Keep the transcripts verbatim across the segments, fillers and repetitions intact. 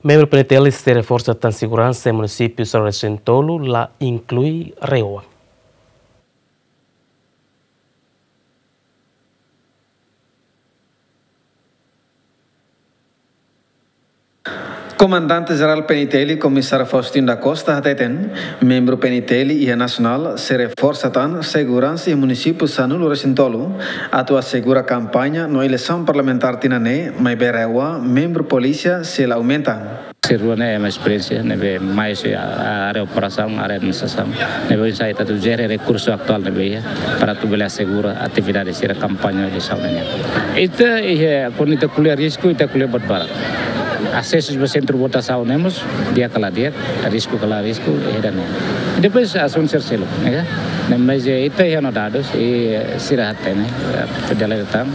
Membru P N T L sei reforsa tan seguransa iha munisípiu sanulu-resin-tolu, la inklui RAEOA. Komandante Jerál P N T L, Komisáriu Faustino da Costa hateten, membru P N T L iha nasionál sei reforsa tan seguransa iha munisípiu sanulu-resin-tolu, atu asegura kampaña no eleisaun parlamentár tinan ne'e, maibé RAEOA membru polísia sei la aumenta. Sira rua ne'e ema esperiénsia, ne'ebé mai husi área operasaun, área administrasaun, ne'ebé oinsá ita atu jere rekursu atuál ne'ebé iha, para atu bele asegura atividade sira kampaña eleisaun ne'e. Ita iha, kuandu ita ko'alia risku, ita ko'alia buat barak. Asesu ba sentru votasaun ne'e mós, di'ak ka la di'ak, risku ka la risku, iha ida-ne'e. Depois asuntu sira seluk, ne'e ka? Ne'e, mas, eh, ita iha ona dadus, i, eh, sira hatene, eh, federal tan,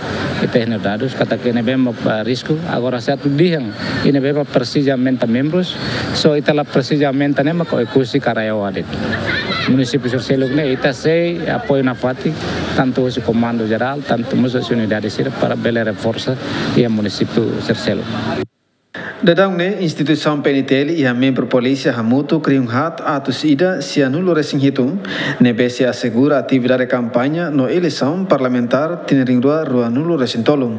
ita iha ona dadus, katak ne'ebé mak, eh, risku, agora se atu dehan, i ne'ebé mak presiza aumenta membrus, só ita la presiza aumenta ne'e mak Oekusi ka RAEOA de'it. Munisípiu sira seluk ne'e, ita sei apoiu nafatin, tantu husi Komandu Jerál, tantu mós husi unidade sira para bele reforsa iha munisípiu sira seluk. Daudaun ne'e, instituisaun P N T L iha membru polísia hamutuk rihun haat atus ida sianulu-resin-hitu, ne'ebé sei asegura atividade kampaña no eleisaun parlamentár tinan rihun rua ruanulu-resin-tolu.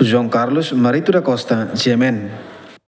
João Carlos Marito da Costa, G M N.